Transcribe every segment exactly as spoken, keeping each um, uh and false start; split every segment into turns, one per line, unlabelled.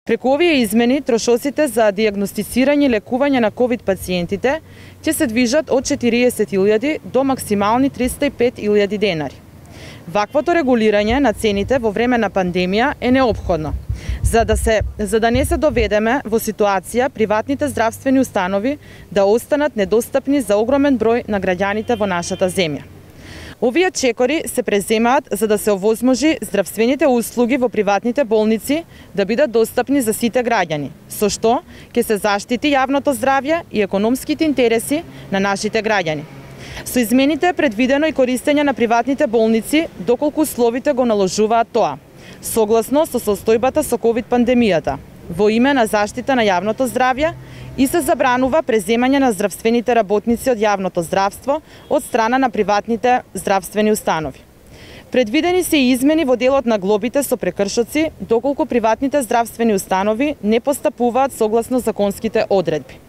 Преку овие измени, трошоците за дијагностицирање и лекување на ковид пациентите ќе се движат од четириесет илјади до максимални триста и пет илјади денари. Ваквото регулирање на цените во време на пандемија е неопходно, за да, се, за да не се доведеме во ситуација приватните здравствени установи да останат недостапни за огромен број на граѓаните во нашата земја. Овие чекори се преземаат за да се овозможи здравствените услуги во приватните болници да бидат достапни за сите граѓани, со што ќе се заштити јавното здравје и економските интереси на нашите граѓани. Со измените е предвидено и користење на приватните болници доколку условите го наложуваат тоа, согласно со состојбата со ковид пандемијата, во име на заштита на јавното здравје, и се забранува преземање на здравствените работници од јавното здравство од страна на приватните здравствени установи. Предвидени се и измени во делот на глобите со прекршоци, доколку приватните здравствени установи не постапуваат согласно законските одредби.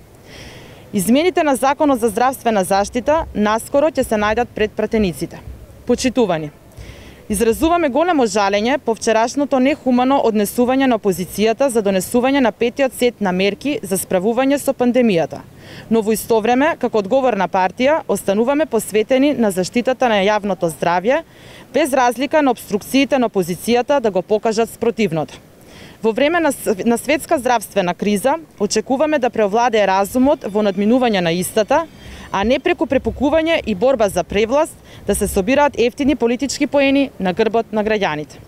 Измените на Законот за здравствена заштита наскоро ќе се најдат пред пратениците. Почитувани, изразуваме големо жалење по вчерашното нехумано однесување на опозицијата за донесување на петиот сет на мерки за справување со пандемијата. Но во исто време, како одговорна партија, остануваме посветени на заштитата на јавното здравје, без разлика на обструкциите на опозицијата да го покажат спротивното. Во време на, на светска здравствена криза, очекуваме да преовладее разумот во надминување на истата, а не преку препукување и борба за превласт да се собираат ефтини политички поени на грбот на граѓаните.